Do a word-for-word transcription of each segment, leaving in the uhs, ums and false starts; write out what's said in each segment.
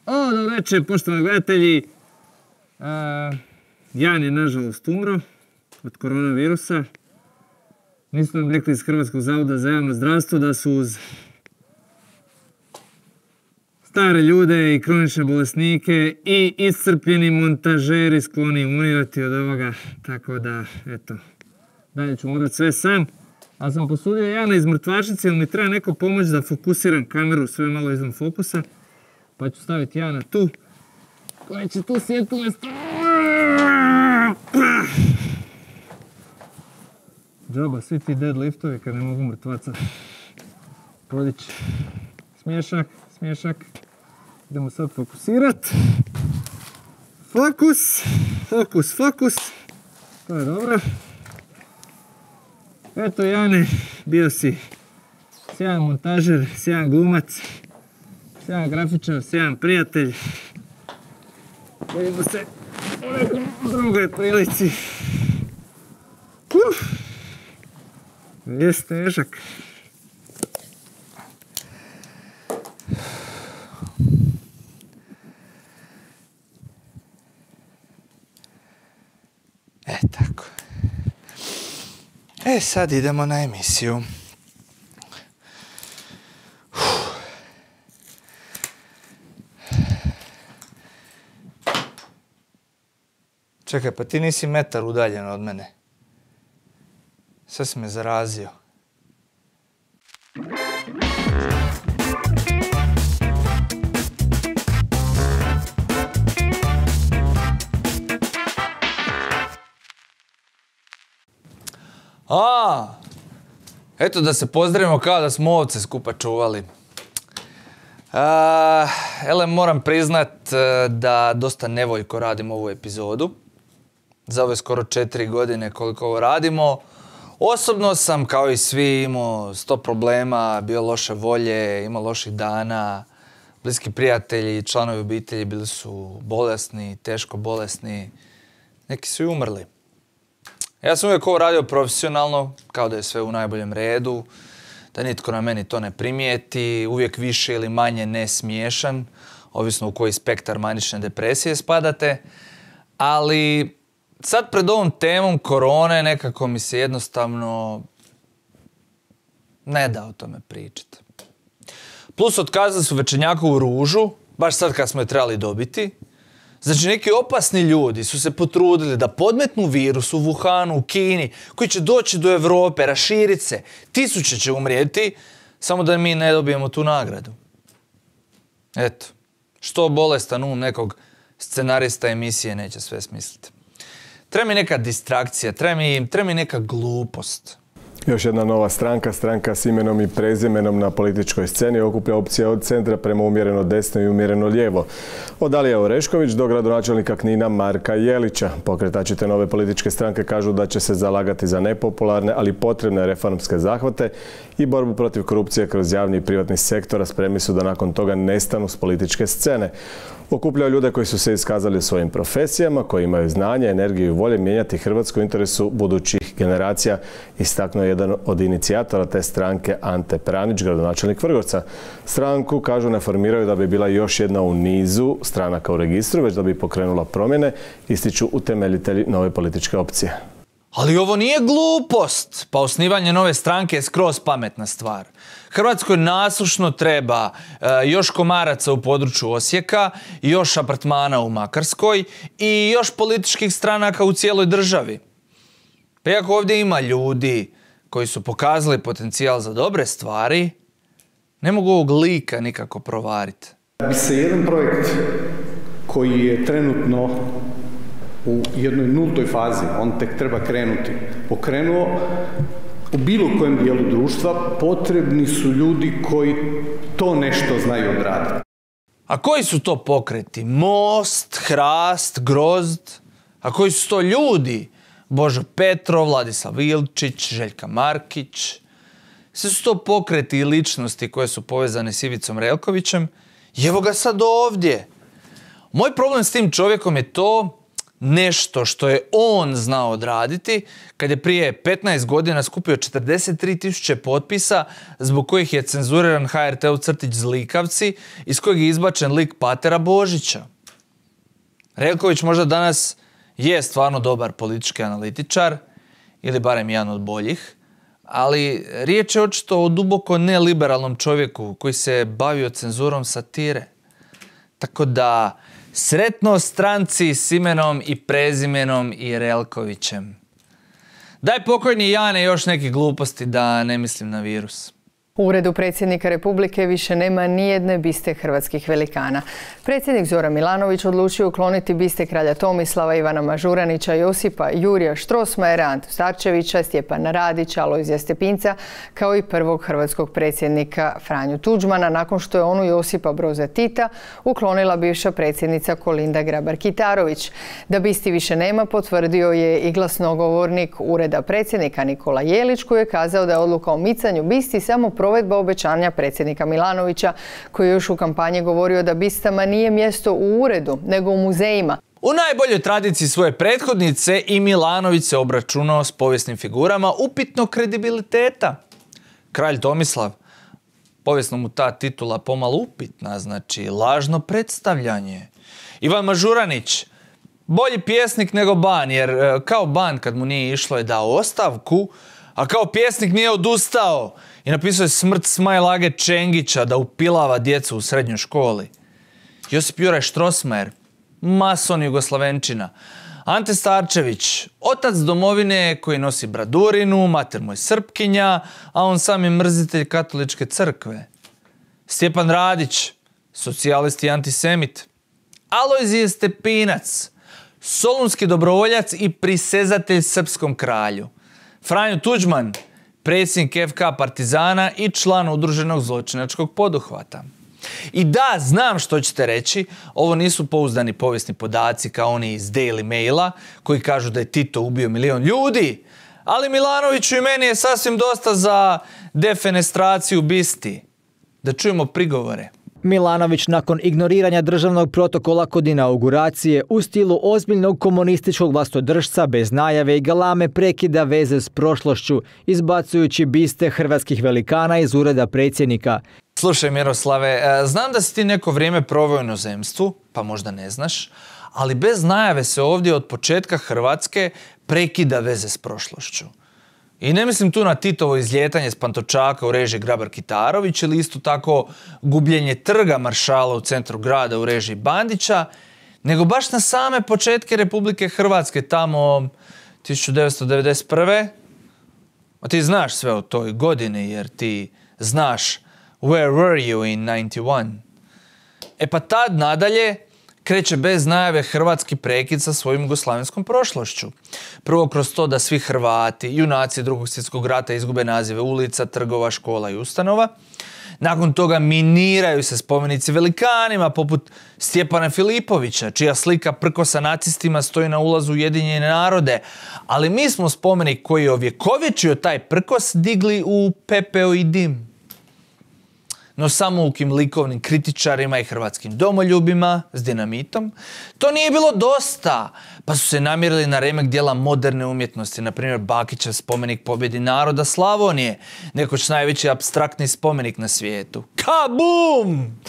O, dobro večer, poštovani gledatelji. Jan je nažalost umro od koronavirusa. Nisu nam rekli iz Hrvatskog zavoda za javno zdravstvo da su uz stare ljude i kronične bolesnike i iscrpljeni montažeri skloni umirati od ovoga. Tako da, eto, dalje ću morati sve sam. Ali sam posudio Jana iz mrtvačnice jer mi treba neko pomoć da fokusiram kameru sve malo izvan fokusa. Pa ću staviti Jana tu. Koji će tu sjediti umjesto... Džaba, svi ti deadliftovi kad ne mogu mrtvaca podići. Smiješak, smiješak. Idemo sad fokusirat. Fokus, fokus, fokus. To je dobro. Eto Jane, bio si sjajan montažer, sjajan glumac, sjajan grafičar, sjajan prijatelj. Vidimo se u nekom drugoj prilici. Uf, jest težak. E, tako. E, sad idemo na emisiju. Čekaj, pa ti nisi metar udaljen od mene. Sve si me zarazio. A, eto da se pozdravimo kao da smo ovce skupa čuvali. A, ele, moram priznat da dosta nevoljko radim ovu epizodu. Za ove skoro četiri godine koliko ovo radimo. Osobno sam, kao i svi, imao sto problema, bio loše volje, imao loših dana. Bliski prijatelji i članovi obitelji bili su bolesni, teško bolesni. Neki su i umrli. Ja sam uvijek ovo radio profesionalno, kao da je sve u najboljem redu, da nitko na meni to ne primijeti, uvijek više ili manje ne smiješan, ovisno u koji spektar manične depresije spadate. Ali sad pred ovom temom korone nekako mi se jednostavno ne da o tome pričati. Plus otkazali su Večernjakovu ružu, baš sad kad smo je trebali dobiti. Znači, neki opasni ljudi su se potrudili da podmetnu virus u Wuhanu, u Kini, koji će doći do Europe, raširiti se. Tisuće će umrijeti, samo da mi ne dobijemo tu nagradu. Eto, što bolestan um nekog scenarista emisije neće sve smisliti. Treba mi neka distrakcija, treba mi, treba mi neka glupost. Još jedna nova stranka, stranka s imenom i prezimenom na političkoj sceni, okuplja opcija od centra prema umjereno desno i umjereno lijevo. Od Alije Orešković do gradonačelnika Knina Marka Jelića. Pokretači te nove političke stranke kažu da će se zalagati za nepopularne, ali potrebne reformske zahvate i borbu protiv korupcije kroz javni i privatni sektor, a spremni su da nakon toga nestanu s političke scene. Okupljaju ljude koji su se iskazali u svojim profesijama, koji imaju znanje, energiju i volje mijenjati Hrvatsku u interesu budućih generacija, istaknuo je jedan od inicijatora te stranke Ante Pranić, gradonačelnik Vrgorca. Stranku, kažu, ne formiraju da bi bila još jedna u nizu stranaka u registru, već da bi pokrenula promjene, ističu utemeljitelji nove političke opcije. Ali ovo nije glupost, pa osnivanje nove stranke je skroz pametna stvar. Hrvatskoj nasušno treba e, još komaraca u području Osijeka, još apartmana u Makarskoj i još političkih stranaka u cijeloj državi. Pa iako ovdje ima ljudi koji su pokazali potencijal za dobre stvari, ne mogu ovog lika nikako provariti. Bi se jedan projekt koji je trenutno u jednoj nultoj fazi, on tek treba krenuti, pokrenuo u bilo kojem dijelu društva, potrebni su ljudi koji to nešto znaju odraditi. A koji su to pokreti? Most, Hrast, Grozd? A koji su to ljudi? Božo Petrov, Vladislav Ilčić, Željka Markić. Sve su to pokreti i ličnosti koje su povezane s Ivicom Relkovićem. I evo ga sad ovdje. Moj problem s tim čovjekom je to nešto što je on znao odraditi kad je prije petnaest godina skupio četrdeset tri tisuće potpisa zbog kojih je cenzuriran H R T-ov crtić Zlikavci, iz kojeg je izbačen lik Patera Božića. Relković možda danas je stvarno dobar politički analitičar, ili barem jedan od boljih, ali riječ je očito o duboko neliberalnom čovjeku koji se bavio cenzurom satire. Tako da, sretno stranci s imenom i prezimenom i Relkovićem. Daj pokojni Jane još neke gluposti da ne mislim na virus. U Uredu predsjednika Republike više nema nijedne biste hrvatskih velikana. Predsjednik Zoran Milanović odlučio ukloniti biste kralja Tomislava, Ivana Mažuranića, Josipa Jurija Strossmayera, Antu Starčevića, Stjepana Radića, Alojzija Stepinca, kao i prvog hrvatskog predsjednika Franju Tuđmana, nakon što je onu Josipa Broza Tita uklonila bivša predsjednica Kolinda Grabar-Kitarović. Da bisti više nema, potvrdio je i glasnogovornik Ureda predsjednika Nikola Jelić, koji je kazao da je odluka o micanju bisti samo provedba obećanja predsjednika Milanovića, koji je još u kampanji govorio da bistama nije mjesto u uredu, nego u muzejima. U najboljoj tradiciji svoje prethodnice i Milanović se obračunao s povijesnim figurama upitnog kredibiliteta. Kralj Tomislav, povijesno mu ta titula pomalo upitna, znači lažno predstavljanje. Ivan Mažuranić, bolji pjesnik nego Ban, jer kao Ban kad mu nije išlo je dao ostavku, a kao pjesnik nije odustao i napisao je smrt Smajlage Čengića da upilava djecu u srednjoj školi. Josip Juraj Strossmayer, mason Jugoslavenčina. Ante Starčević, otac domovine koji nosi bradurinu, mater mu je Srpkinja, a on sam je mrzitelj katoličke crkve. Stjepan Radić, socijalist i antisemit. Alojzije Stepinac, solunski dobrovoljac i prisezatelj srpskom kralju. Franjo Tuđman, predsjednik F K Partizana i član udruženog zločinačkog poduhvata. I da, znam što ćete reći, ovo nisu pouzdani povijesni podaci kao oni iz Daily Maila koji kažu da je Tito ubio milion ljudi, ali Milanoviću i meni je sasvim dosta za defenestraciju bisti. Da čujemo prigovore. Milanović nakon ignoriranja državnog protokola kod inauguracije u stilu ozbiljnog komunističkog vlastodržca bez najave i galame prekida veze s prošlošću, izbacujući biste hrvatskih velikana iz ureda predsjednika. Slušaj Miroslave, znam da si ti neko vrijeme proveo u inozemstvu, pa možda ne znaš, ali bez najave se ovdje od početka Hrvatske prekida veze s prošlošću. I ne mislim tu na Titovo izljetanje s Pantovčaka u režiji Grabar-Kitarović ili isto tako gubljenje trga Maršala u centru grada u režiji Bandića, nego baš na same početke Republike Hrvatske tamo tisuću devetsto devedeset prve. A ti znaš sve o toj godini jer ti znaš Where were you in ninety-one? E pa tad nadalje kreće bez najave hrvatski prekid sa svojim jugoslavenskom prošlošću. Prvo kroz to da svi Hrvati, junaci drugog svjetskog rata izgube nazive ulica, trgova, škola i ustanova. Nakon toga miniraju se spomenici velikanima poput Stjepana Filipovića, čija slika prkosa nacistima stoji na ulazu Ujedinjene narode. Ali mi smo spomenik koji je ovjekovječio taj prkos digli u pepeo i dim. No samoukim likovnim kritičarima i hrvatskim domoljubima s dinamitom to nije bilo dosta, pa su se namjerili na remek dijela moderne umjetnosti, na primjer Bakićev spomenik pobjedi naroda Slavonije, nekoć najveći apstraktni spomenik na svijetu. Kabum!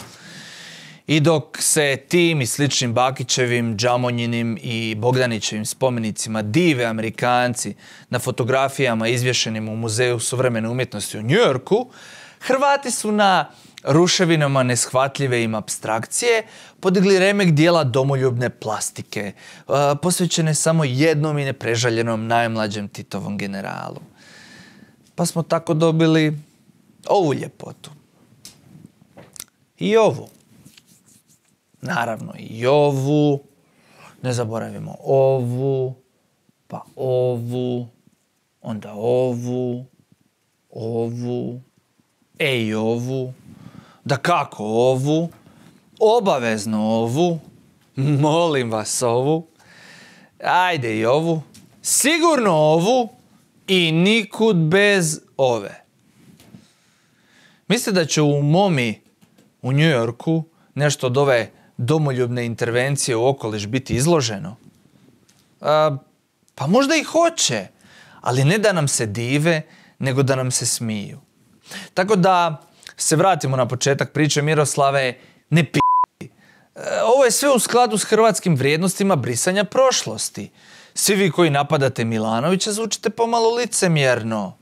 I dok se tim i sličnim Bakićevim, Džamonjinim i Bogdanićevim spomenicima dive Amerikanci na fotografijama izvješenim u Muzeju suvremene umjetnosti u New Yorku, Hrvati su na ruševinama neshvatljive im apstrakcije podigli remek dijela domoljubne plastike, posvećene samo jednom i neprežaljenom najmlađem Titovom generalu. Pa smo tako dobili ovu ljepotu. I ovu. Naravno i ovu. Ne zaboravimo ovu, pa ovu, onda ovu, ovu, e i ovu, da kako ovu, obavezno ovu, molim vas ovu, ajde i ovu, sigurno ovu i nikud bez ove. Mislite da će u Momi u New Yorku nešto od ove domoljubne intervencije u okoliš biti izloženo? A, pa možda i hoće, ali ne da nam se dive, nego da nam se smiju. Tako da se vratimo na početak priče, Miroslave, ne p***. Ovo je sve u skladu s hrvatskim vrijednostima brisanja prošlosti. Svi vi koji napadate Milanovića zvučite pomalo licemjerno.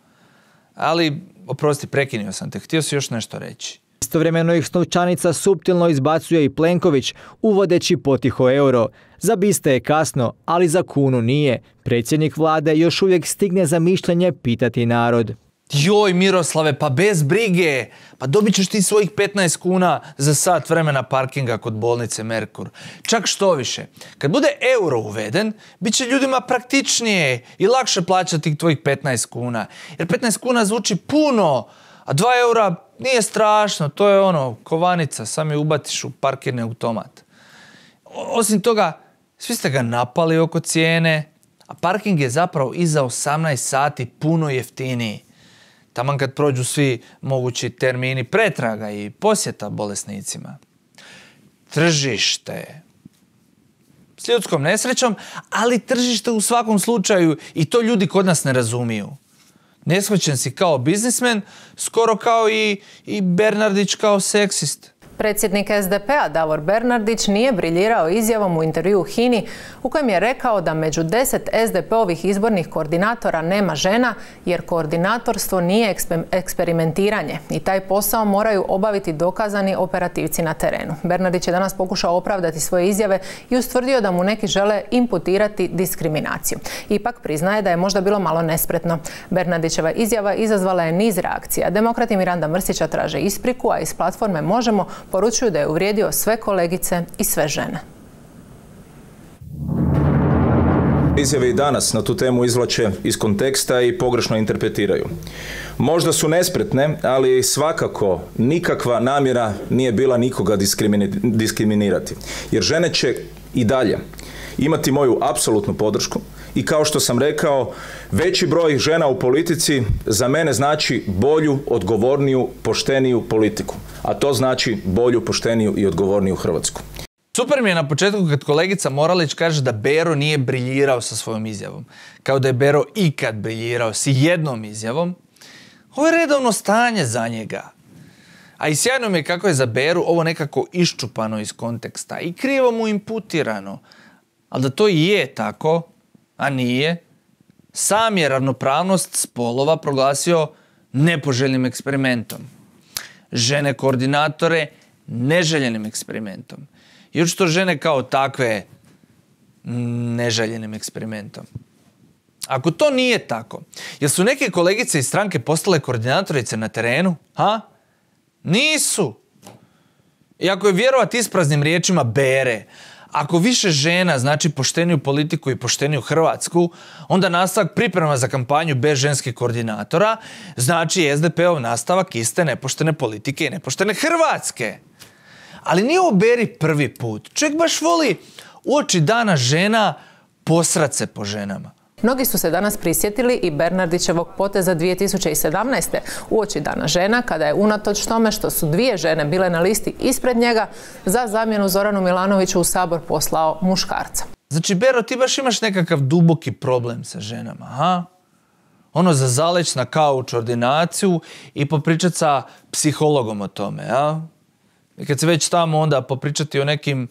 Ali, oprosti, prekinio sam te, htio si još nešto reći. Istovremeno ih s novčanica suptilno izbacuje i Plenković, uvodeći potiho euro. Za biste je kasno, ali za kunu nije. Predsjednik vlade još uvijek stigne za mišljenje pitati narod. Joj Miroslave, pa bez brige, pa dobit ćeš ti svojih petnaest kuna za sat vremena parkinga kod bolnice Merkur. Čak što više, kad bude euro uveden, bit će ljudima praktičnije i lakše plaćati tvojih petnaest kuna. Jer petnaest kuna zvuči puno, a dva eura nije strašno, to je ono, kovanica, sam je ubatiš u parkirni automat. Osim toga, svi ste ga napali oko cijene, a parking je zapravo iza osamnaest sati puno jeftiniji. Taman kad prođu svi mogući termini pretraga i posjeta bolesnicima. Tržište. S ljudskom nesrećom, ali tržište u svakom slučaju i to ljudi kod nas ne razumiju. Neshvaćen si kao biznismen, skoro kao i, i Bernardić kao seksist. Predsjednik es de pe a Davor Bernardić nije briljirao izjavom u intervjuu H I N I u kojem je rekao da među deset es de pe ovih izbornih koordinatora nema žena jer koordinatorstvo nije eksperimentiranje i taj posao moraju obaviti dokazani operativci na terenu. Bernardić je danas pokušao opravdati svoje izjave i ustvrdio da mu neki žele imputirati diskriminaciju. Ipak priznaje da je možda bilo malo nespretno. Bernardićeva izjava izazvala je niz reakcija. Demokrati Miranda Mrsića traže ispriku, a iz platforme Možemo poručuju da je uvrijedio sve kolegice i sve žene. Izjave i danas na tu temu izvlače iz konteksta i pogrešno interpretiraju. Možda su nespretne, ali svakako nikakva namjera nije bila nikoga diskriminirati. Jer žene će i dalje imati moju apsolutnu podršku i kao što sam rekao, veći broj žena u politici za mene znači bolju, odgovorniju, pošteniju politiku. A to znači bolju, pošteniju i odgovorniju Hrvatsku. Super mi je na početku kad kolegica Moralić kaže da Bero nije briljirao sa svojom izjavom. Kao da je Bero ikad briljirao s jednom izjavom. Ovo je redovno stanje za njega. A i sjajno mi je kako je za Beru ovo nekako iščupano iz konteksta i krivo mu imputirano. Ali da to i je tako, a nije, sam je ravnopravnost spolova proglasio nepoželjnim eksperimentom. Žene koordinatore neželjenim eksperimentom. I očito žene kao takve neželjenim eksperimentom. Ako to nije tako, jel su neke kolegice iz stranke postale koordinatorice na terenu? Ha? Nisu. I ako je vjerovati ispraznim riječima Bere, ako više žena znači pošteniju politiku i pošteniju Hrvatsku, onda nastavak priprema za kampanju bez ženskih koordinatora znači es de pe ov nastavak iste nepoštene politike i nepoštene Hrvatske. Ali nije ovo Beri prvi put. Čovjek baš voli uoči dana žena posrat se po ženama. Mnogi su se danas prisjetili i Bernardićevog poteza dvije tisuće sedamnaeste. uoči dana žena, kada je unatoč tome što su dvije žene bile na listi ispred njega, za zamjenu Zoranu Milanoviću u Sabor poslao muškarca. Znači, Bero, ti baš imaš nekakav duboki problem sa ženama, ha? Ono za zaleć na kauč ordinaciju i popričat sa psihologom o tome, a? I kad se već tamo, onda popričati o nekim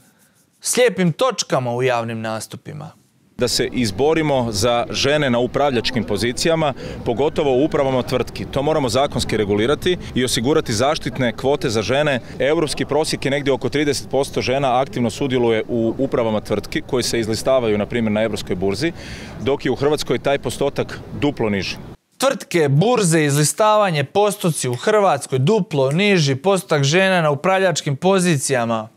slijepim točkama u javnim nastupima. Da se izborimo za žene na upravljačkim pozicijama, pogotovo u upravama tvrtki. To moramo zakonski regulirati i osigurati zaštitne kvote za žene. Europski prosjek je negdje oko trideset posto žena aktivno sudjeluje u upravama tvrtki koji se izlistavaju, na primjer, na europskoj burzi, dok je u Hrvatskoj taj postotak duplo niži. Tvrtke, burze, izlistavanje, postoci u Hrvatskoj duplo niži, postotak žena na upravljačkim pozicijama.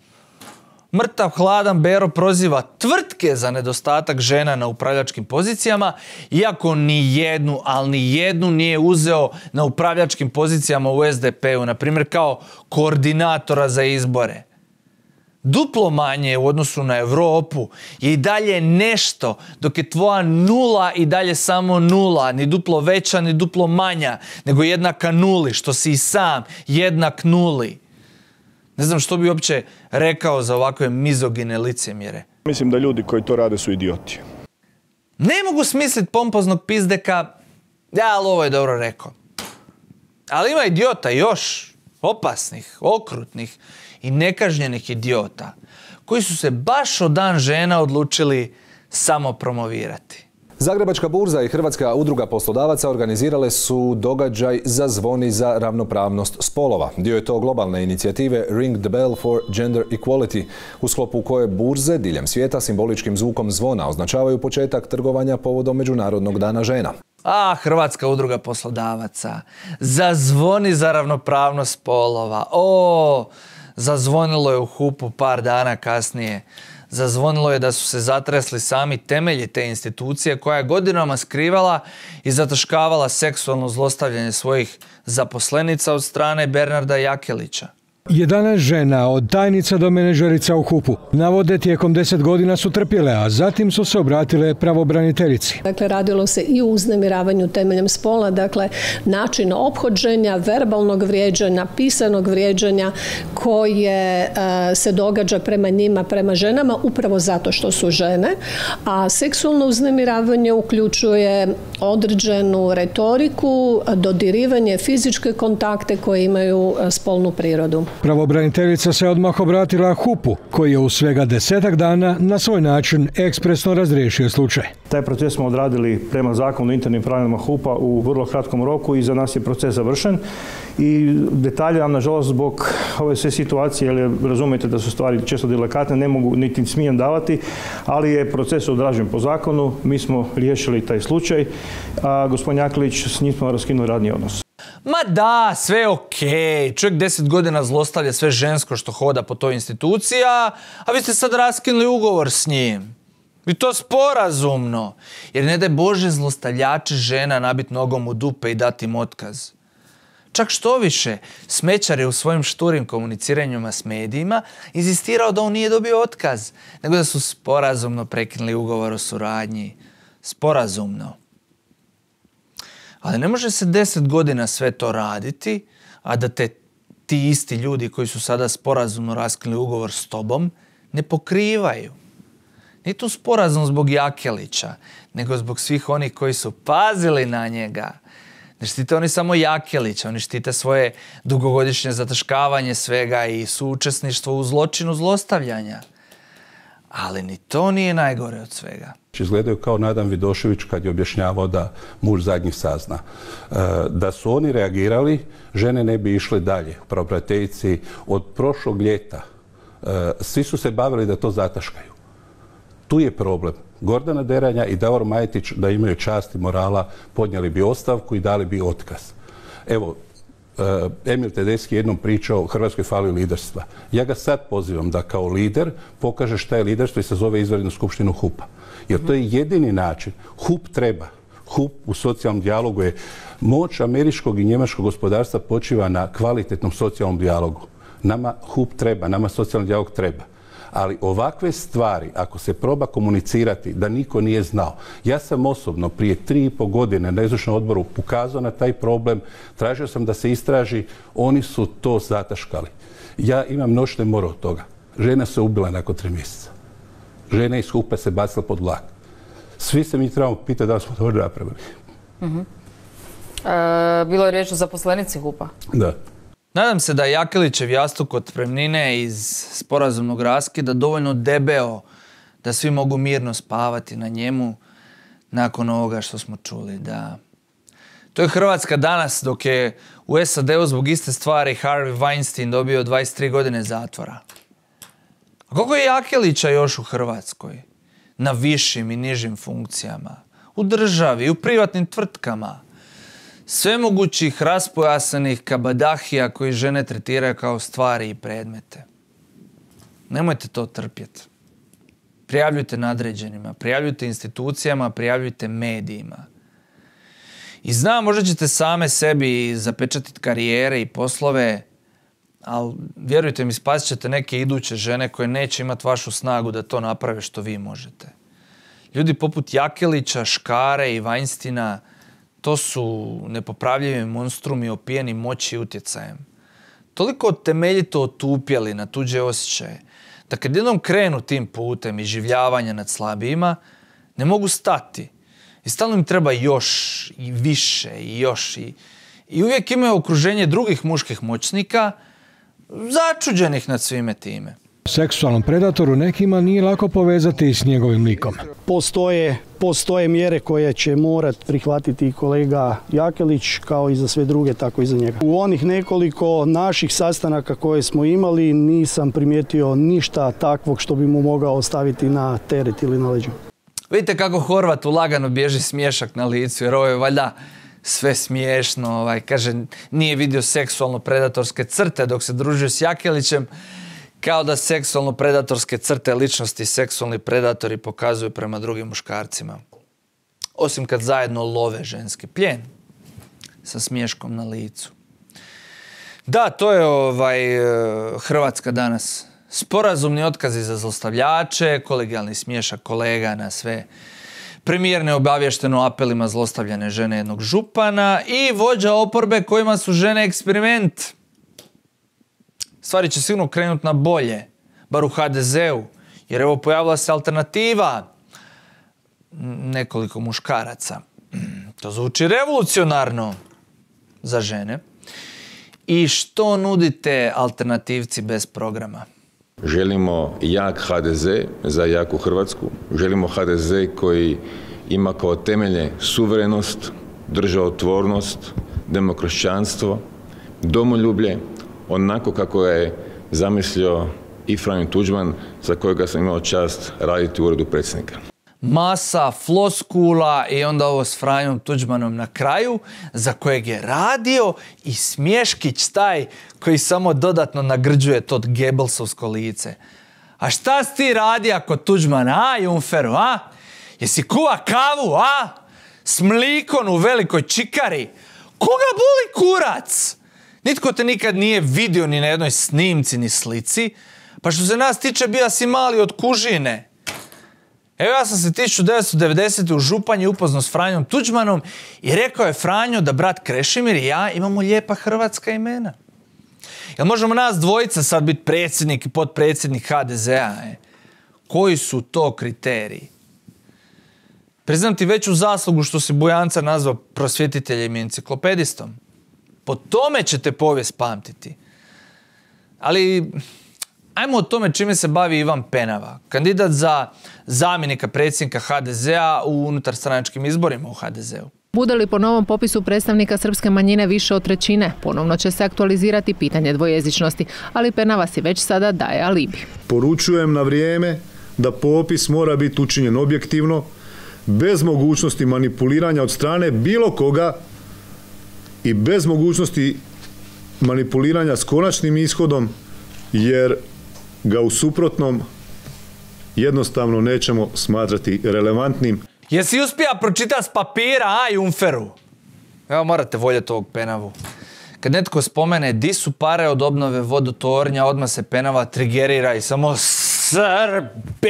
Mrtav hladan Bero proziva tvrtke za nedostatak žena na upravljačkim pozicijama, iako ni jednu, ali ni jednu nije uzeo na upravljačkim pozicijama u es de pe u, na primjer kao koordinatora za izbore. Duplo manje u odnosu na Europu je i dalje nešto, dok je tvoja nula i dalje samo nula, ni duplo veća, ni duplo manja, nego jednaka nuli, što si i sam jednak nuli. Ne znam što bi uopće rekao za ovakve mizogine licemjere. Mislim da ljudi koji to rade su idioti. Ne mogu smisliti pompoznog pizdeka, ja, ali ovo je dobro rekao. Ali ima idiota još, opasnih, okrutnih i nekažnjenih idiota, koji su se baš od Dan žena odlučili samo promovirati. Zagrebačka burza i Hrvatska udruga poslodavaca organizirale su događaj Zazvoni za ravnopravnost spolova. Dio je to globalne inicijative Ring the Bell for Gender Equality, u sklopu koje burze diljem svijeta simboličkim zvukom zvona označavaju početak trgovanja povodom Međunarodnog dana žena. A, Hrvatska udruga poslodavaca, zazvoni za ravnopravnost spolova. O, zazvonilo je u hupu par dana kasnije. Zazvonilo je da su se zatresli sami temelji te institucije koja je godinama skrivala i zataškavala seksualno zlostavljanje svojih zaposlenica od strane Bernarda Jakelića. jedanaest žena, od tajnica do menadžerica u hupu, navode tijekom deset godina su trpjele, a zatim su se obratile pravobraniteljici. Dakle, radilo se i o uznemiravanju temeljem spola, dakle, način ophođenja, verbalnog vrijeđanja, pisanog vrijeđanja koje uh, se događa prema njima, prema ženama, upravo zato što su žene, a seksualno uznemiravanje uključuje određenu retoriku, dodirivanje, fizičke kontakte koje imaju spolnu prirodu. Pravobraniteljica se odmah obratila hupu, koji je u svega desetak dana na svoj način ekspresno razriješio slučaj. Taj proces smo odradili prema zakonu o internim pravilima hupa u vrlo kratkom roku i za nas je proces završen. I detalje vam, nažalost, zbog ove sve situacije, jer razumijete da su stvari često delikatne, ne mogu niti smijem davati, ali je proces odrađen po zakonu, mi smo riješili taj slučaj, a gospodin Jakelić, s njim smo raskinuli radni odnos. Ma da, sve je okej. Okay. Čovjek deset godina zlostavlja sve žensko što hoda po toj instituciji, a, a vi ste sad raskinuli ugovor s njim. I to sporazumno. Jer ne daj Bože zlostavljače žena nabit nogom u dupe i dati im otkaz. Čak što više, Smećar je u svojim šturim komuniciranjima s medijima inzistirao da on nije dobio otkaz, nego da su sporazumno prekinuli ugovor o suradnji. Sporazumno. Ali ne može se deset godina sve to raditi, a da te ti isti ljudi koji su sada sporazumno raskinuli ugovor s tobom ne pokrivaju. Nije tu sporazum zbog Jakelića, nego zbog svih onih koji su pazili na njega. Ne štite oni samo Jakelića, oni štite svoje dugogodišnje zataškavanje svega i suučesništvo u zločinu zlostavljanja. Ali ni to nije najgore od svega. Izgledaju kao Nadan Vidošević kad je objašnjavao da muž zadnji sazna. E, da su oni reagirali, žene ne bi išle dalje. Pravobraniteljici od prošlog ljeta e, svi su se bavili da to zataškaju. Tu je problem. Gordana Deranja i Davor Majetić, da imaju čast i morala, podnijeli bi ostavku i dali bi otkaz. Evo, Emil Tedeschi jednom pričao, Hrvatskoj fali liderstva. Ja ga sad pozivam da kao lider pokaže šta je liderstvo i sazove izvanrednu skupštinu hupa. Jer to je jedini način. hup treba. hup u socijalnom dijalogu je moć američkog i njemačkog gospodarstva počiva na kvalitetnom socijalnom dijalogu. Nama hup treba, nama socijalni dijalog treba. Ali ovakve stvari, ako se proba komunicirati da niko nije znao. Ja sam osobno prije tri i po godine na izvršnom odboru ukazao na taj problem, tražio sam da se istraži, oni su to zataškali. Ja imam noćne more od toga. Žena se ubila nakon tri mjeseca. Žena iz hupa se bacila pod vlak. Svi se mi trebamo pitati da li smo to napravili. Uh-huh. E, bilo je riječ o zaposlenici hupa? Da. Nadam se da je Jakelićev jastuk otpremnine iz sporazumnog raskida dovoljno debeo da svi mogu mirno spavati na njemu nakon ovoga što smo čuli. Da. To je Hrvatska danas, dok je u S A D-u zbog iste stvari Harvey Weinstein dobio dvadeset tri godine zatvora. A koliko je Jakelića još u Hrvatskoj? Na višim i nižim funkcijama. U državi, u privatnim tvrtkama. Svemogućih raspojasanih kabadahija koji žene tretiraju kao stvari i predmete. Nemojte to trpjeti. Prijavljujte nadređenima, prijavljujte institucijama, prijavljujte medijima. I znam, možda ćete same sebi zapečatiti karijere i poslove, ali vjerujte mi, spasit ćete neke iduće žene koje neće imati vašu snagu da to naprave što vi možete. Ljudi poput Jakelića, Škare i Weinsteina, to su nepopravljivi monstrumi opijeni moći i utjecajem. Toliko temeljito otupjeli na tuđe osjećaje, da kad jednom krenu tim putem iživljavanja nad slabijima, Ne mogu stati. I stalno im treba još i više i još. I, i uvijek imaju okruženje drugih muških moćnika začuđenih nad svime time. Seksualnom predatoru nekima nije lako povezati s njegovim likom. Postoje, postoje mjere koje će morat prihvatiti kolega Jakelić, kao i za sve druge, tako i za njega. U onih nekoliko naših sastanaka koje smo imali nisam primijetio ništa takvog što bi mu mogao ostaviti na teret ili na leđu. Vidite kako Horvatu lagano bježi smiješak na licu, jer ovo je valjda sve smiješno. Ovaj, kaže, nije vidio seksualno predatorske crte dok se družio s Jakelićem, kao da seksualno predatorske crte ličnosti seksualni predatori pokazuju prema drugim muškarcima. Osim kad zajedno love ženski plijen sa smiješkom na licu. Da, to je ovaj, Hrvatska danas. Sporazumni otkazi za zlostavljače, kolegijalni smiješak kolega na sve. Premijer neobavješteno apelima zlostavljane žene jednog župana i vođa oporbe kojima su žene eksperiment. Stvari će sigurno krenuti na bolje, bar u ha de zeu, jer evo pojavila se alternativa nekoliko muškaraca. To zvuči revolucionarno za žene. I što nudite alternativci bez programa? Želimo jak ha de ze za jaku Hrvatsku. Želimo ha de ze koji ima kao temelje suverenost, državotvornost, demokršćanstvo, domoljublje, onako kako je zamislio i Franjo Tuđman, za kojega sam imao čast raditi u uredu predsjednika. Masa floskula i onda ovo s Franjom Tuđmanom na kraju, za kojeg je radio i smješkić taj koji samo dodatno nagrđuje to Gebelsovsko lice. A šta si ti radi ako Tuđman, a, Junferu, a? Jesi kuva kavu, a? S mlikon u velikoj čikari? Koga boli kurac? Nitko te nikad nije vidio ni na jednoj snimci ni slici, pa što se nas tiče bija si mali od kužine. Evo ja sam se tisuću devetsto devedesete u Županji upoznao s Franjom Tuđmanom i rekao je Franjo da brat Krešimir i ja imamo lijepa hrvatska imena. Jel možemo nas dvojica sad biti predsjednik i potpredsjednik ha de zea? E? Koji su to kriteriji? Priznam ti veću zaslugu što si Bujanca nazvao prosvjetiteljem i enciklopedistom. Po tome ćete povijest pamtiti. Ali ajmo o tome čime se bavi Ivan Penava, kandidat za zamjenika predsjednika ha de zea u unutarstranačkim izborima u ha de zeu. Bude li po novom popisu predstavnika srpske manjine više od trećine, ponovno će se aktualizirati pitanje dvojezičnosti, ali Penava si već sada daje alibi. Poručujem na vrijeme da popis mora biti učinjen objektivno, bez mogućnosti manipuliranja od strane bilo koga i bez mogućnosti manipuliranja s konačnim ishodom, jer ga u suprotnom jednostavno nećemo smatrati relevantnim. Jesi uspija pročitati s papira, a, Junferu? Evo morate voljeti ovog Penavu. Kad netko spomene di su pare od obnove vodotornja, odmah se Penava trigerira i samo Srbi.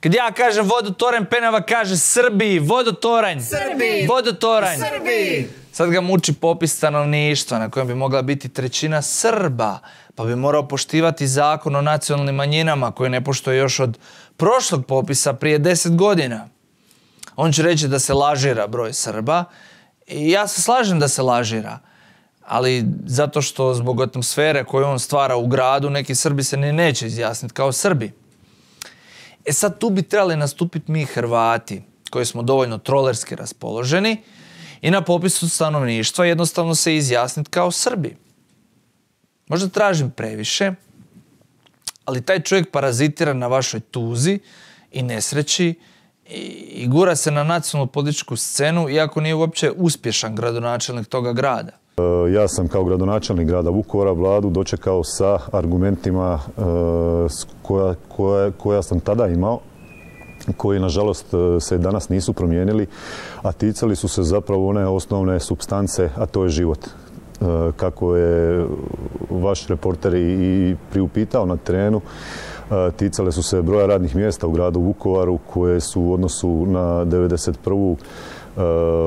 Kad ja kažem vodotoranj, Penava kaže Srbiji, vodotoranj. Srbi! Vodotoranj. Srbi! Sad ga muči popis stanovništva na kojem bi mogla biti trećina Srba, pa bi morao poštivati zakon o nacionalnim manjinama koji ne poštuje još od prošlog popisa prije deset godina. On će reći da se lažira broj Srba i ja se slažem da se lažira, ali zato što zbog atmosfere koju on stvara u gradu neki Srbi se ni neće izjasniti kao Srbi. E sad tu bi trebali nastupiti mi Hrvati koji smo dovoljno trolerski raspoloženi i na popisu stanovništva jednostavno se izjasniti kao Srbi. Možda tražim previše, ali taj čovjek parazitira na vašoj tuzi i nesreći i gura se na nacionalnu političku scenu, iako nije uopće uspješan gradonačelnik toga grada. Ja sam kao gradonačelnik grada Vukovara vladu dočekao sa argumentima koja, koja, koja sam tada imao, koji nažalost se danas nisu promijenili, a ticali su se zapravo one osnovne supstance, a to je život. Kako je vaš reporter i priupitao na terenu, ticale su se broja radnih mjesta u gradu Vukovaru koje su u odnosu na devedeset prvu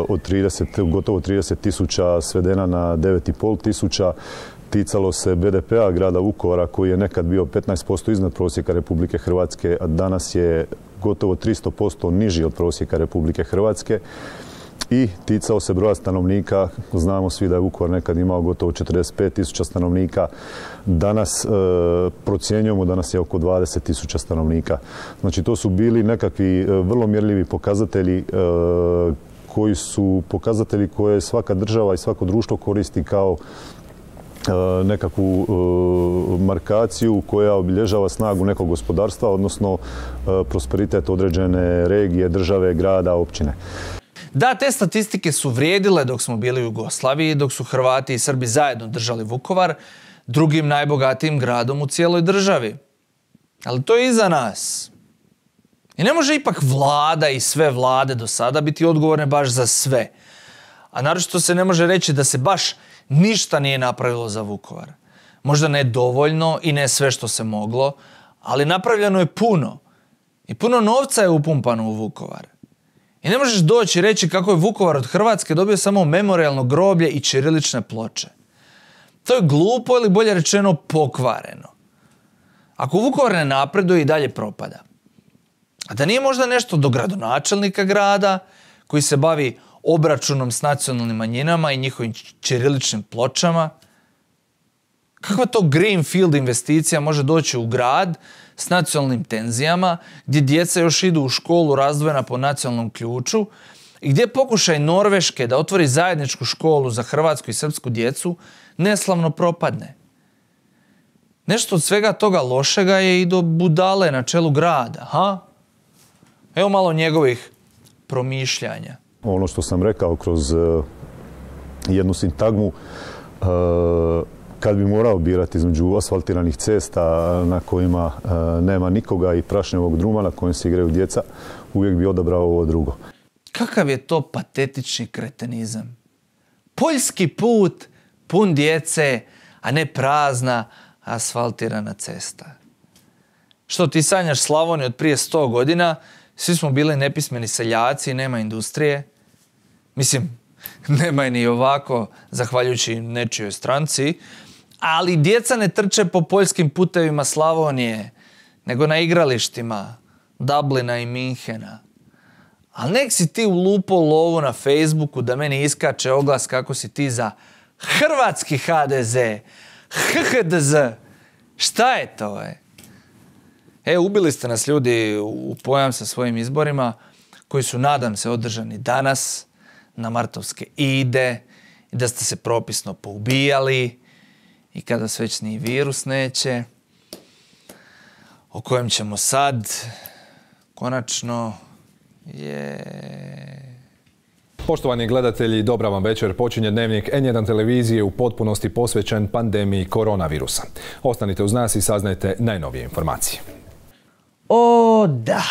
od trideset, gotovo trideset tisuća svedena na devet i pol tisuća. Ticalo se be de pea grada Vukovara koji je nekad bio petnaest posto iznad prosjeka Republike Hrvatske, a danas je gotovo tristo posto niži od prosjeka Republike Hrvatske i ticao se broja stanovnika. Znamo svi da je Vukovar nekad imao gotovo četrdeset pet tisuća stanovnika. Danas e, procjenjujemo da nas je oko dvadeset tisuća stanovnika. Znači to su bili nekakvi e, vrlo mjerljivi pokazatelji e, koji su pokazatelji koje svaka država i svako društvo koristi kao nekakvu uh, markaciju koja obilježava snagu nekog gospodarstva, odnosno uh, prosperitet određene regije, države, grada, općine. Da, te statistike su vrijedile dok smo bili u Jugoslaviji, dok su Hrvati i Srbi zajedno držali Vukovar, drugim najbogatijim gradom u cijeloj državi. Ali to je iza nas. I ne može ipak vlada i sve vlade do sada biti odgovorne baš za sve. A naročito se ne može reći da se baš ništa nije napravilo za Vukovar. Možda ne dovoljno i ne sve što se moglo, ali napravljeno je puno. I puno novca je upumpano u Vukovar. I ne možeš doći i reći kako je Vukovar od Hrvatske dobio samo memorijalno groblje i ćirilične ploče. To je glupo ili bolje rečeno pokvareno. Ako Vukovar ne napreduje i dalje propada. A da nije možda nešto do gradonačelnika grada koji se bavi obračunom s nacionalnim manjinama i njihovim ćiriličnim pločama? Kakva to greenfield investicija može doći u grad s nacionalnim tenzijama, gdje djeca još idu u školu razdvojena po nacionalnom ključu i gdje pokušaj Norveške da otvori zajedničku školu za hrvatsku i srpsku djecu neslavno propadne? Nešto od svega toga lošega je i do budale na čelu grada, ha? Evo malo njegovih promišljanja. Ono što sam rekao kroz uh, jednu sintagmu, uh, kad bi morao birati između asfaltiranih cesta na kojima uh, nema nikoga i prašnjevog druma na kojem se igraju djeca, uvijek bi odabrao ovo drugo. Kakav je to patetični kretenizam? Poljski put pun djece, a ne prazna asfaltirana cesta. Što ti sanjaš Slavoniju od prije sto godina, svi smo bili nepismeni seljaci i nema industrije. Mislim, nema je ni ovako, zahvaljujući nečijoj stranci, ali djeca ne trče po poljskim putevima Slavonije, nego na igralištima Dublina i Minhena. Ali nek si ti ulupo lovu na Facebooku da meni iskače oglas kako si ti za hrvatski ha de ze, ha ha de ze. Šta je to, je? E, ubili ste nas ljudi u pojam sa svojim izborima, koji su, nadam se, održani danas na martovske ide, i da ste se propisno poubijali i kada se već ni virus neće, o kojem ćemo sad, konačno, je... Poštovani gledatelji, dobra vam večer. Počinje dnevnik en jedan televizije u potpunosti posvećen pandemiji koronavirusa. Ostanite uz nas i saznajte najnovije informacije. O da,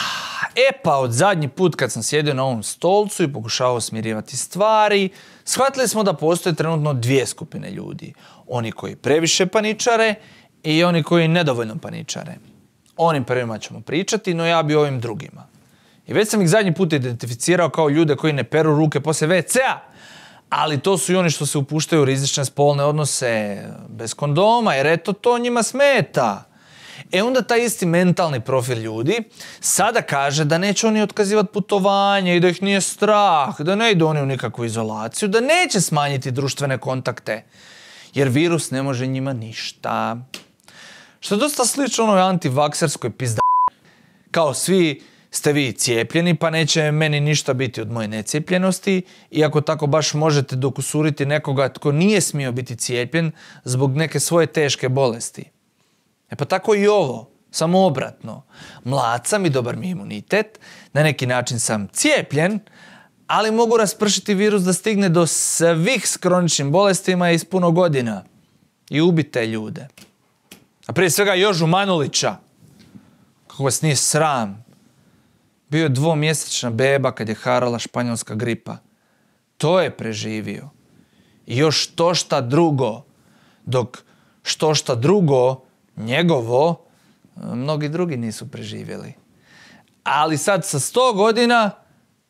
e pa od zadnji put kad sam sjedio na ovom stolcu i pokušavao smirivati stvari, shvatili smo da postoje trenutno dvije skupine ljudi. Oni koji previše paničare i oni koji nedovoljno paničare. Onim prvima ćemo pričati, no ja bi o ovim drugima. I već sam ih zadnji put identificirao kao ljude koji ne peru ruke poslije ve cea, ali to su i oni što se upuštaju u rizične spolne odnose bez kondoma, jer eto to njima smeta. E onda taj isti mentalni profil ljudi sada kaže da neće oni otkazivati putovanje i da ih nije strah, da ne idu oni u nikakvu izolaciju, da neće smanjiti društvene kontakte, jer virus ne može njima ništa. Što je dosta slično onoj antivakserskoj pizda. Kao svi ste vi cijepljeni, pa neće meni ništa biti od moje necijepljenosti, iako tako baš možete dokusuriti nekoga tko nije smio biti cijepljen zbog neke svoje teške bolesti. E pa tako i ovo, samo obratno. Mlad sam i dobar mi je imunitet, na neki način sam cijepljen, ali mogu raspršiti virus da stigne do svih s kroničnim bolestima iz puno godina i ubite ljude. A prije svega Jožu Manulića, kako vas nije sram. Bio je dvomjesečna beba kad je harala španjolska gripa. To je preživio. I još to šta drugo, dok što šta drugo, njegovo, mnogi drugi nisu preživjeli. Ali sad sa sto godina,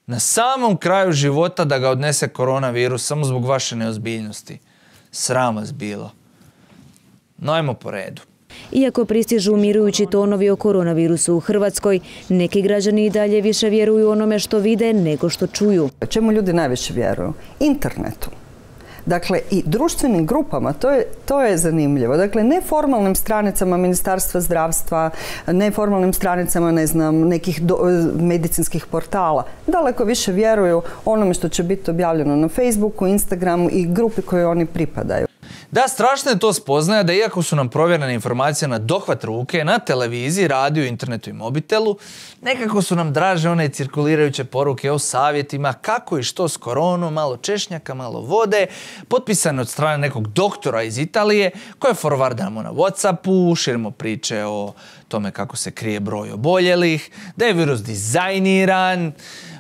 na samom kraju života da ga odnese koronavirus samo zbog vaše neozbiljnosti. Sram vas bilo. No ajmo po redu. Iako pristižu umirujući tonovi o koronavirusu u Hrvatskoj, neki građani i dalje više vjeruju onome što vide nego što čuju. Čemu ljudi najviše vjeruju? Internetu. Dakle, i društvenim grupama, to je, to je zanimljivo. Dakle, neformalnim stranicama Ministarstva zdravstva, neformalnim stranicama, ne znam, nekih do, medicinskih portala. Daleko više vjeruju onome što će biti objavljeno na Facebooku, Instagramu i grupi koje oni pripadaju. Da, strašno je to spoznaja da iako su nam provjerene informacije na dohvat ruke, na televiziji, radiju, internetu i mobitelu, nekako su nam draže one cirkulirajuće poruke o savjetima kako i što s koronom, malo češnjaka, malo vode, potpisane od strane nekog doktora iz Italije, koje forwardamo na Whatsappu, širimo priče o tome kako se krije broj oboljelih, da je virus dizajniran,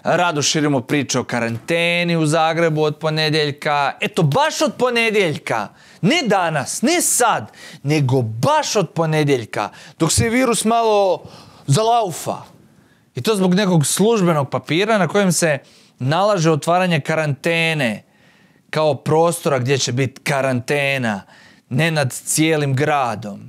rado širimo priče o karanteni u Zagrebu od ponedjeljka. Eto, baš od ponedjeljka. Ne danas, ne sad, nego baš od ponedjeljka, dok se virus malo zalaufa. I to zbog nekog službenog papira na kojem se nalaže otvaranje karantene kao prostora gdje će biti karantena, ne nad cijelim gradom.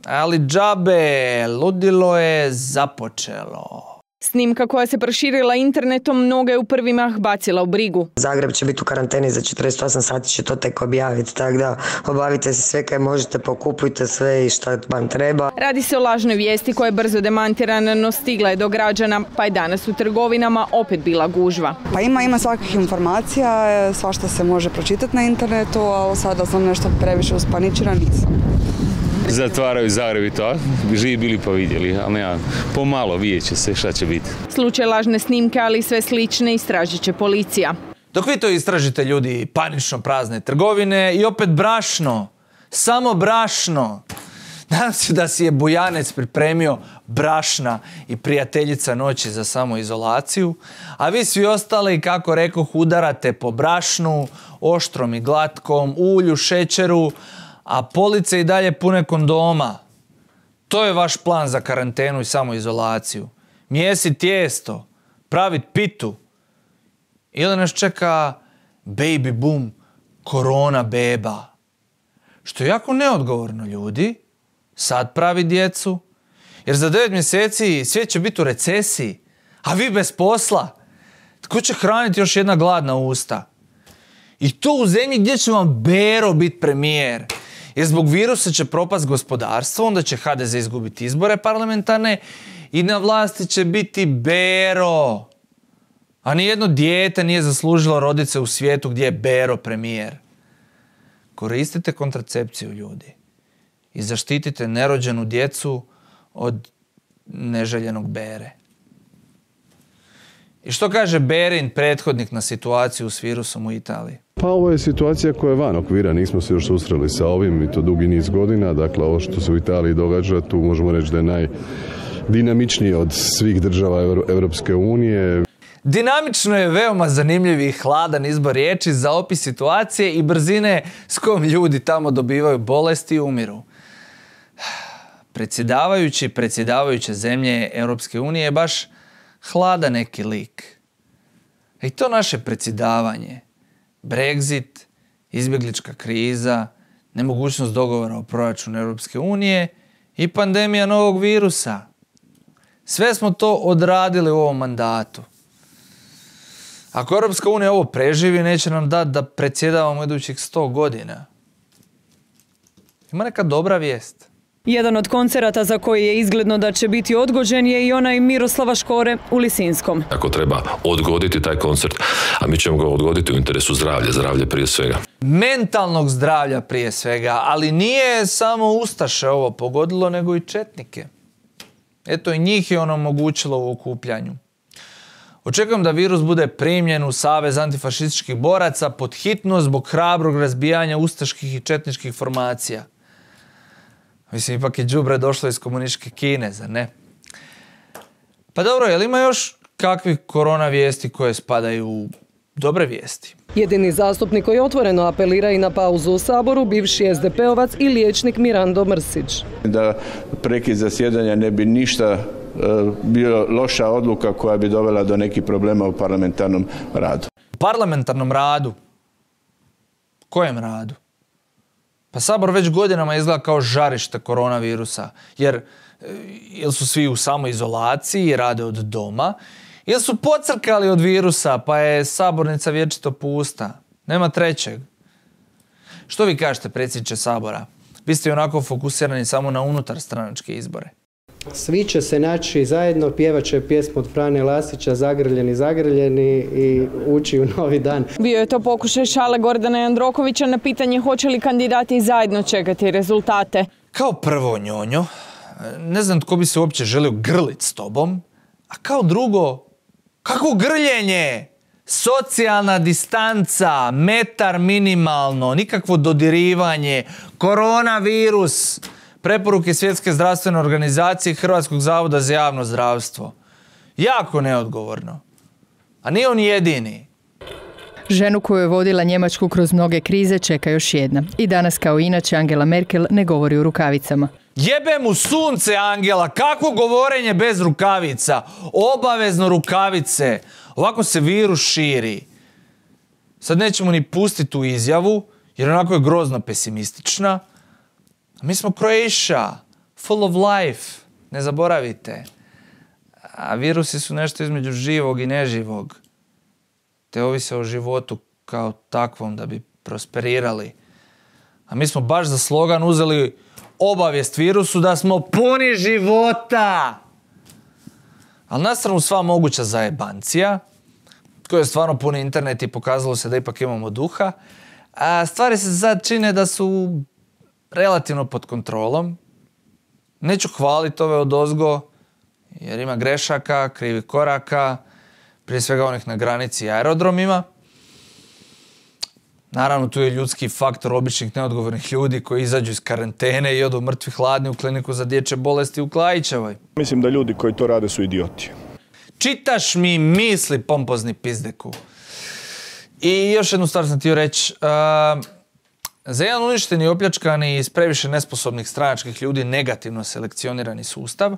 Ali džabe, ludilo je započelo. Snimka koja se proširila internetom mnoge je u prvi mah bacila u brigu. Zagreb će biti u karanteni za četrdeset osam sati, će to tek objaviti, tako da obavite se sve kaj možete, pokupujte sve i šta vam treba. Radi se o lažnoj vijesti koja je brzo demantirana, no stigla je do građana, pa je danas u trgovinama opet bila gužva. Pa ima, ima svakih informacija, svašta se može pročitati na internetu, ali sada sam nešto previše uspaničena, nisam. Zatvaraju Zagreb i to, živi bili pa vidjeli, ali ja, pomalo vidjet će se šta će biti. Slučaj lažne snimke, ali i sve slične, istražit će policija. Dok vi to istražite, ljudi, panično prazne trgovine i opet brašno, samo brašno. Nadam se da si je Bujanec pripremio brašna i prijateljica noći za samoizolaciju, a vi svi ostali, kako rekoh, udarate po brašnu, oštrom i glatkom, ulju, šećeru, a police i dalje pune kondoma. To je vaš plan za karantenu i samoizolaciju. Mjesit tijesto, pravit pitu. Ili nas čeka baby boom, korona beba. Što je jako neodgovorno, ljudi. Sad pravi djecu. Jer za devet mjeseci svijet će biti u recesiji, a vi bez posla. Tko će hraniti još jedna gladna usta? I to u zemlji gdje će vam Bero biti premijer. Jer zbog virusa će propast gospodarstvo, onda će ha de ze izgubiti izbore parlamentarne i na vlasti će biti Bero. A nijedno dijete nije zaslužilo roditi se u svijetu gdje je Bero premijer. Koristite kontracepciju, ljudi. I zaštitite nerođenu djecu od neželjenog Bere. I što kaže Berin, prethodnik na situaciju s virusom u Italiji? Pa ovo je situacija koja je van okvira, nismo se još susreli sa ovim i to dugi niz godina. Dakle, ovo što se u Italiji događa, tu možemo reći da je najdinamičniji od svih država Europske unije. Dinamično je veoma zanimljiv i hladan izbor riječi za opis situacije i brzine s kojom ljudi tamo dobivaju bolesti i umiru. Predsjedavajući predsjedavajuće zemlje Europske unije je baš hladan neki lik. I to naše predsjedavanje, Brexit, izbjeglička kriza, nemogućnost dogovora o proračunu Europske unije i pandemija novog virusa. Sve smo to odradili u ovom mandatu. Ako Europska unija ovo preživi, neće nam dati da predsjedavamo idućih sto godina. Ima neka dobra vijest. Jedan od koncerata za koji je izgledno da će biti odgođen je i onaj Miroslava Škore u Lisinskom. Ako treba odgoditi taj koncert, a mi ćemo ga odgoditi u interesu zdravlja, zdravlje prije svega. Mentalnog zdravlja prije svega, ali nije samo ustaše ovo pogodilo, nego i četnike. Eto, i njih je ono omogućilo u okupljanju. Očekujem da virus bude primljen u Savez antifašističkih boraca pod hitno zbog hrabrog razbijanja ustaških i četničkih formacija. Mislim, ipak je đubre došlo iz komunističke Kine, zar ne? Pa dobro, je li ima još kakvih korona vijesti koje spadaju u dobre vijesti? Jedini zastupnik koji otvoreno apelira i na pauzu u Saboru, bivši es de pe ovac i liječnik Mirando Mrsić. Da prekid zasjedanja ne bi ništa bio loša odluka koja bi dovela do nekih problema u parlamentarnom radu. Parlamentarnom radu? Kojem radu? Pa Sabor već godinama izgleda kao žarište koronavirusa, jer ili su svi u samoizolaciji i rade od doma, ili su pocrkali od virusa, pa je sabornica vječito pusta. Nema trećeg. Što vi kažete, predsjedniče Sabora? Vi ste onako fokusirani samo na unutar stranačke izbore. Svi će se naći zajedno, pjevat će pjesmu od Frane Lasića, Zagrljeni, zagrljeni i ući u novi dan. Bio je to pokušaj šale Gordana Jandrokovića na pitanje hoće li kandidati zajedno čekati rezultate. Kao prvo, Njonjo, ne znam tko bi se uopće želio grlit s tobom, a kao drugo, kako grljenje? Socijalna distanca, metar minimalno, nikakvo dodirivanje, koronavirus, preporuke Svjetske zdravstvene organizacije i Hrvatskog zavoda za javno zdravstvo. Jako neodgovorno. A nije on jedini. Ženu koju je vodila Njemačku kroz mnoge krize čeka još jedna. I danas kao inače Angela Merkel ne govori u rukavicama. Jebe mu sunce, Angela, kakvo govorenje bez rukavica? Obavezno rukavice. Ovako se virus širi. Sad nećemo ni pustiti tu izjavu, jer onako je grozno pesimistična. Mi smo Croatia, full of life, ne zaboravite. A virusi su nešto između živog i neživog. Te ovise o životu kao takvom da bi prosperirali. A mi smo baš za slogan uzeli obavijest virusu da smo puni života. Ali na stranu sva moguća zajebancija, koja je stvarno puni internet i pokazalo se da ipak imamo duha, a stvari se sad čine da su relativno pod kontrolom. Neću hvaliti ove odozgo, jer ima grešaka, krivih koraka, prije svega onih na granici i aerodromima. Naravno, tu je ljudski faktor običnih neodgovornih ljudi koji izađu iz karantene i odu mrtvi hladni u kliniku za dječje bolesti u Klajićevoj. Mislim da ljudi koji to rade su idioti. Čitaš mi misli, pompozni pizdeku. I još jednu stvar sam htio reći. Uh, za jedan uništeni, opljačkani i iz previše nesposobnih stranačkih ljudi negativno selekcionirani sustav,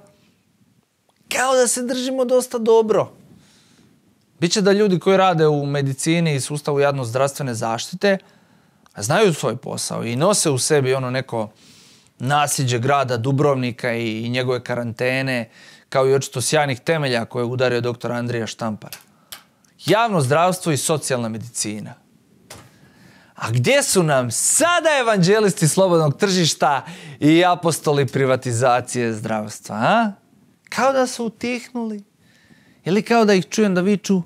kao da se držimo dosta dobro. Biće da ljudi koji rade u medicini i sustavu javno-zdravstvene zaštite znaju svoj posao i nose u sebi ono neko nasljeđe grada Dubrovnika i, i njegove karantene, kao i očito sjajnih temelja koje je udario doktor Andrija Štampar. Javno zdravstvo i socijalna medicina. A gdje su nam sada evanđelisti slobodnog tržišta i apostoli privatizacije zdravstva, a? Kao da su utihnuli. Ili kao da ih čujem da viču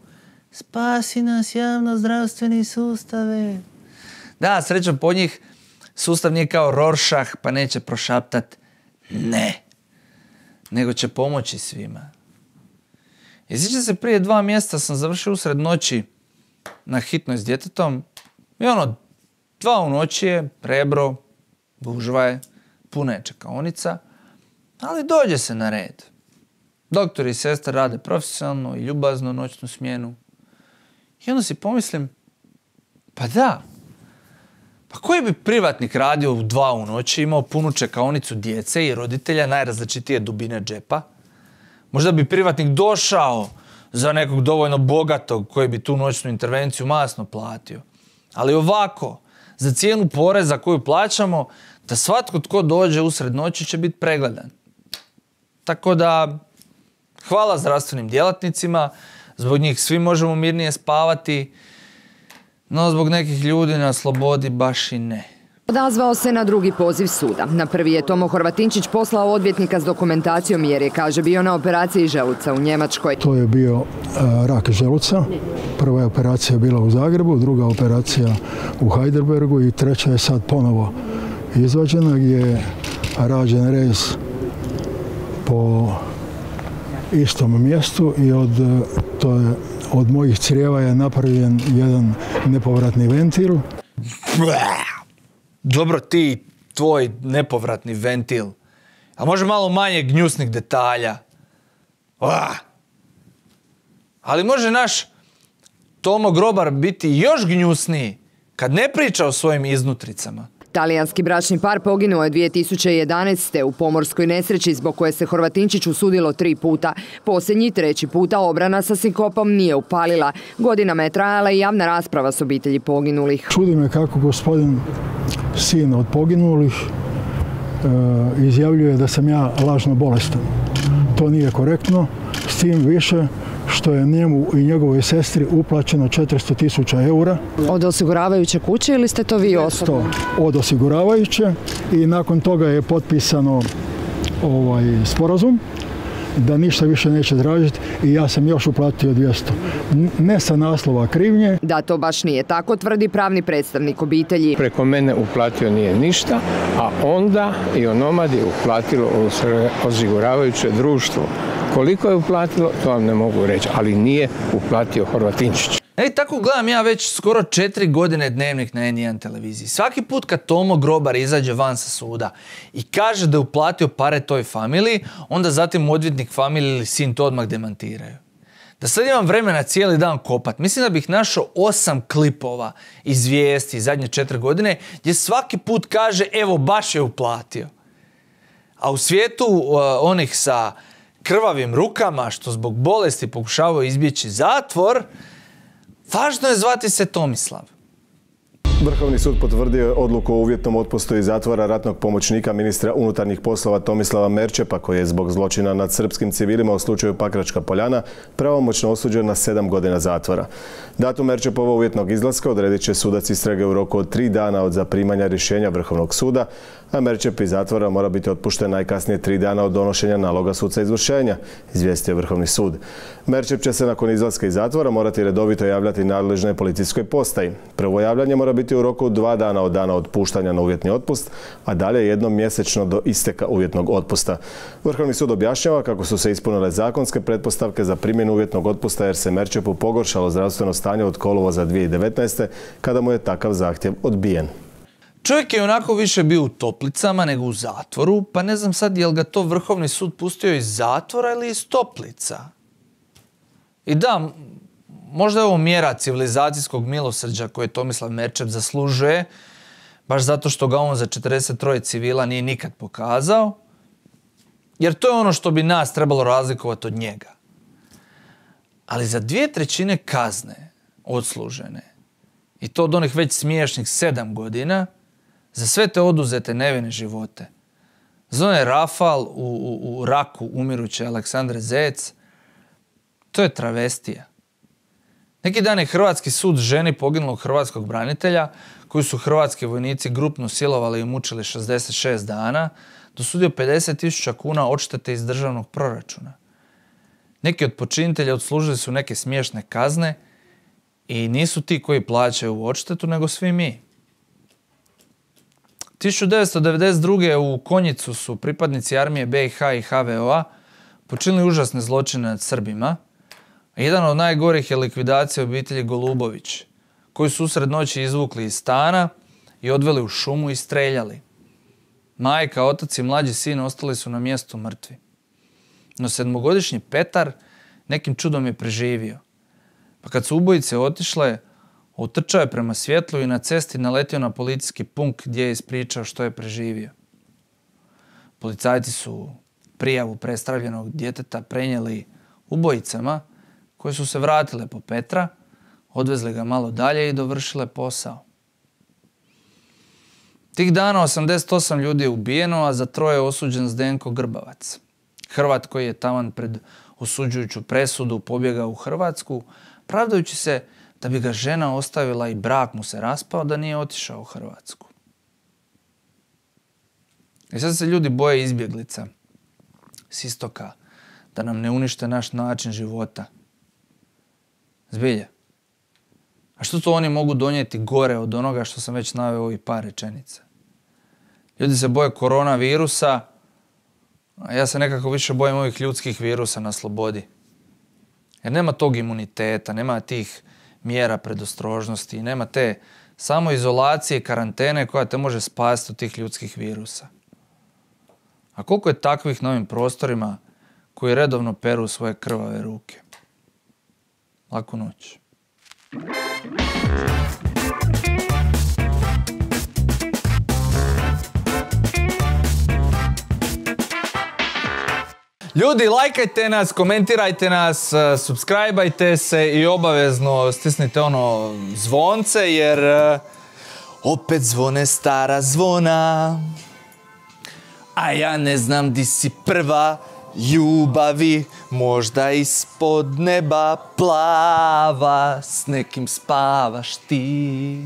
spasi nas javno zdravstveni sustave. Da, srećom po njih sustav nije kao Rorschach pa neće prošaptat ne. Nego će pomoći svima. I sjećam se, prije dva mjeseca sam završio usred noći na hitnoj s djetetom i ono, dva u noći je, Rebro, gužva je, puna je čekaonica, ali dođe se na red. Doktori i sestre rade profesionalno i ljubazno noćnu smjenu. I onda si pomislim, pa da, pa koji bi privatnik radio u dva u noći, imao punu čekaonicu djece i roditelja najrazličitije dubine džepa? Možda bi privatnik došao za nekog dovoljno bogatog koji bi tu noćnu intervenciju masno platio. Ali ovako, za cijenu poreza koju plaćamo, da svatko tko dođe usred noći će biti pregledan. Tako da, hvala zdravstvenim djelatnicima, zbog njih svi možemo mirnije spavati, no zbog nekih ljudi na slobodi baš i ne. Odazvao se na drugi poziv suda. Na prvi je Tomo Horvatinčić poslao odvjetnika s dokumentacijom jer je, kaže, bio na operaciji želuca u Njemačkoj. To je bio uh, rak želuca. Prva je operacija bila u Zagrebu, druga operacija u Heidelbergu i treća je sad ponovo izvađena gdje je rađen rez po istom mjestu i od, to je, od mojih crijeva je napravljen jedan nepovratni ventil. Dobro, ti, tvoj nepovratni ventil. A može malo manje gnjusnih detalja. Ah. Ali može naš Tomo Grobar biti još gnjusniji kad ne priča o svojim iznutricama. Talijanski bračni par poginuo je dvije tisuće jedanaeste. u pomorskoj nesreći zbog koje se Horvatinčić usudilo tri puta. Posljednji treći puta obrana sa sinkopom nije upalila. Godinama je trajala i javna rasprava s obitelji poginulih. Čudi me kako gospodin sin od poginulih e, izjavljuje da sam ja lažno bolestan. To nije korektno, s tim više što je njemu i njegovoj sestri uplaćeno četiristo tisuća eura. Od osiguravajuće kuće ili ste to vi osobno? Od osiguravajuće i nakon toga je potpisano ovaj sporazum da ništa više neće tražiti i ja sam još uplatio dvjesto. Ne sa naslova krivnje. Da to baš nije tako, tvrdi pravni predstavnik obitelji. Preko mene uplatio nije ništa, a onda i onomad je uplatilo osiguravajuće društvo. Koliko je uplatilo, to vam ne mogu reći, ali nije uplatio Horvatinčić. E, tako gledam ja već skoro četiri godine Dnevnik na N jedan televiziji. Svaki put kad Tomo Grobar izađe van sa suda i kaže da je uplatio pare toj familiji, onda zatim odvjetnik familije ili sin to odmah demantiraju. Da sad imam vremena cijeli dan kopat, mislim da bih našao osam klipova iz vijesti zadnje četiri godine gdje svaki put kaže evo baš je uplatio. A u svijetu uh, onih sa krvavim rukama što zbog bolesti pokušavaju izbjeći zatvor, važno je zvati se Tomislav. Vrhovni sud potvrdio je odluku o uvjetnom otpustu iz zatvora ratnog pomoćnika ministra unutarnjih poslova Tomislava Merčepa, koji je zbog zločina nad srpskim civilima u slučaju Pakračka Poljana pravomoćno osuđen na sedam godina zatvora. Datum Merčepova uvjetnog izlaska odredit će sudac istrage u roku od tri dana od zaprimanja rješenja Vrhovnog suda, a Merčep iz zatvora mora biti otpušten najkasnije tri dana od donošenja naloga suca izvršenja, izvijestio Vrhovni sud. Merčep će se nakon izlaska iz zatvora morati redovito javljati nadležnoj policijskoj postaji. Prvo javljanje mora biti u roku dva dana od dana otpuštanja na uvjetni otpust, a dalje jednom mjesečno do isteka uvjetnog otpusta. Vrhovni sud objašnjava kako su se ispunile zakonske pretpostavke za primjenu uvjetnog otpusta jer se Merčepu pogoršalo zdravstveno stanje od kolovoza dvije tisuće devetnaeste. kada mu je takav zahtjev odbijen. Čovjek je onako više bio u toplicama nego u zatvoru, pa ne znam sad je li ga to Vrhovni sud pustio iz zatvora ili iz toplica. I da, možda je ovo mjera civilizacijskog milosrđa koje Tomislav Merčep zaslužuje, baš zato što ga on za četrdeset troje civila nije nikad pokazao, jer to je ono što bi nas trebalo razlikovati od njega. Ali za dvije trećine kazne odslužene, i to od onih već smiješnih sedam godina, za sve te oduzete nevine živote, za onaj rafal u, u, u raku umiruće Aleksandre Zec, to je travestija. Neki dan je hrvatski sud ženi poginulog hrvatskog branitelja, koju su hrvatski vojnici grupno silovali i mučili šezdeset šest dana, dosudio pedeset tisuća kuna odštete iz državnog proračuna. Neki od počinitelja odslužili su neke smiješne kazne i nisu ti koji plaćaju odštetu, nego svi mi. tisuću devetsto devedeset druge. u Konjicu su pripadnici armije B i H i H V O-a počinili užasne zločine nad Srbima. Jedan od najgorih je likvidacija obitelji Golubović, koji su usred noći izvukli iz stana i odveli u šumu i streljali. Majka, otac i mlađi sin ostali su na mjestu mrtvi. No sedmogodišnji Petar nekim čudom je preživio. Pa kad su ubojice otišle, utrčao je prema svjetlu i na cesti naletio na policijski punkt gdje je ispričao što je preživio. Policajci su prijavu prestravljenog djeteta prenijeli ubojicama koje su se vratile po Petra, odvezli ga malo dalje i dovršile posao. Tih dana osamdeset osam ljudi je ubijeno, a za troje je osuđen Zdenko Grbavac. Hrvat koji je taman pred osuđujuću presudu pobjegao u Hrvatsku, pravdajući se da bi ga žena ostavila i brak mu se raspao da nije otišao u Hrvatsku. I sad se ljudi boje izbjeglica s istoka, da nam ne unište naš način života. Zbilje. A što to oni mogu donijeti gore od onoga što sam već naveo ovih par rečenica? Ljudi se boje koronavirusa, a ja se nekako više bojim ovih ljudskih virusa na slobodi. Jer nema tog imuniteta, nema tih mjera predostrožnosti, nema te samoizolacije i karantene koja te može spasiti od tih ljudskih virusa. A koliko je takvih na ovim prostorima koji redovno peru svoje krvave ruke? Laku noć. Ljudi, lajkajte nas, komentirajte nas, subscribeajte se i obavezno stisnite ono zvonce jer opet zvone stara zvona. A ja ne znam di si prva ljubavi, možda ispod neba plava, s nekim spavaš ti.